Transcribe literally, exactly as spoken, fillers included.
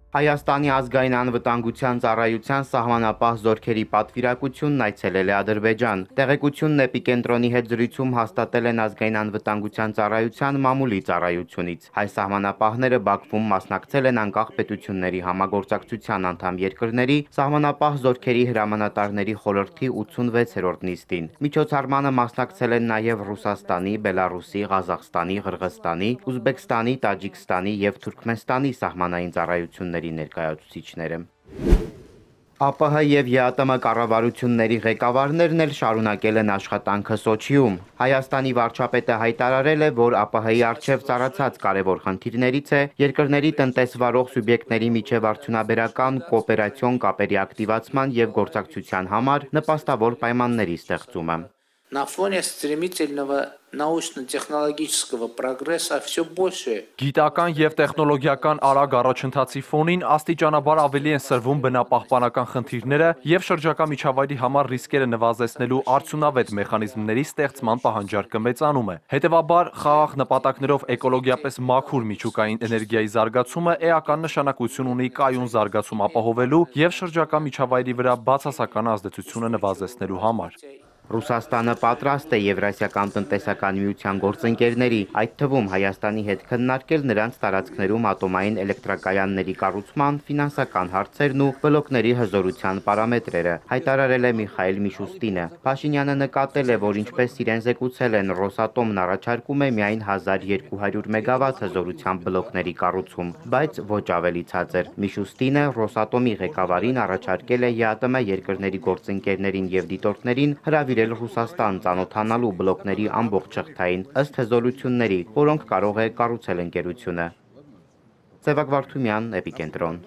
Հայաստանի ազգային անվտանգության ծառայության սահմանապահ զորքերի պատվիրակությունն այցելել է Ադրբեջան։ Տեղեկությունն Էպիկենտրոնի հետ զրույցում հաստատել են ազգային անվտանգության ծառայության մամուլի ծառայությունից։ Հայ սահմանապահները Բաքվում մասնակցել են անկախ պետությունների համագործակցության անդամ երկրների սահմանապահ զորքերի հրամանատարների խորհրդի ութսունվեցերորդ նիստին։ Միջոցառմանը մասնակցել են նաև Ռուսաստանի, Բելարուսի, Ղազախստանի, Ղրղզստանի, Ուզբեկստանի, Տաջիկստանի և Թուրքմենստանի սահմանային ծառայությունների ներկայացուցիչները։ ԱՊՀ և ԵԱՏՄ կառավարությունների ղեկավարներն էլ շարունակել են աշխատանքը Սոչիում։ Հայաստանի վարչապետը հայտարարել է, որ ԱՊՀ-ի առջև ծառացած կարևոր խնդիրներից է երկրների տնտեսվարող սուբյեկտների միջև արդյունաբերական կոոպերացիոն կապերի ակտիվացման և գործակցության համար նպաստավոր պայմանների ստեղծումը։ На фоне стремительного научно-технологического прогресса все больше Գիտական և տեխնոլոգիական արագ առաջընթացի ֆոնին աստիճանաբար ավելի են սրվում բնապահպանական խնդիրները և շրջակա միջավայրի համար ռիսկերը նվազեցնելու արդյունավետ մեխանիզմների ստեղծման պահանջարկը մեծանում է։ Հետևաբար, խաղաղ նպատակներով էկոլոգիապես մաքուր միջուկային էներգիայի զարգացումը էական նշանակություն ունի կայուն զարգացում ապահովելու և շրջակա միջավայրի վրա բացասական ազդեցությունը նվազեցնելու համար։ Ռուսաստանը պատրաստ է Եվրասիական տնտեսական միության գործընկերների, այդ թվում Հայաստանի հետ քննարկել նրանց տարածքներում ատոմային էլեկտրակայանների կառուցման ֆինանսական հարցերն ու բլոկների հզորության պարամետրերը, հայտարարել է Միխայիլ Միշուստինը։ Փաշինյանը նկատել է, որ ինչպես իրեն զեկուցել են, Ռոսատոմն առաջարկում է միայն հազար երկու հարյուր մեգավատ հզորությամբ բլոկների կառուցում, բայց ոչ ավելի ցածր։ Միշուստինը Ռոսատոմի ղեկավարին առաջարկել է ԵԱՏՄ երկրների գործընկերներին և դիտորդներին հրավիրել Ռուսաստան ծանոթանալու բլոկների ամբողջ շղթային ըստ հզորությունների, որոնք կարող է կառուցել ընկերությունը։ Սևակ Վարդումյան, Էպիկենտրոն։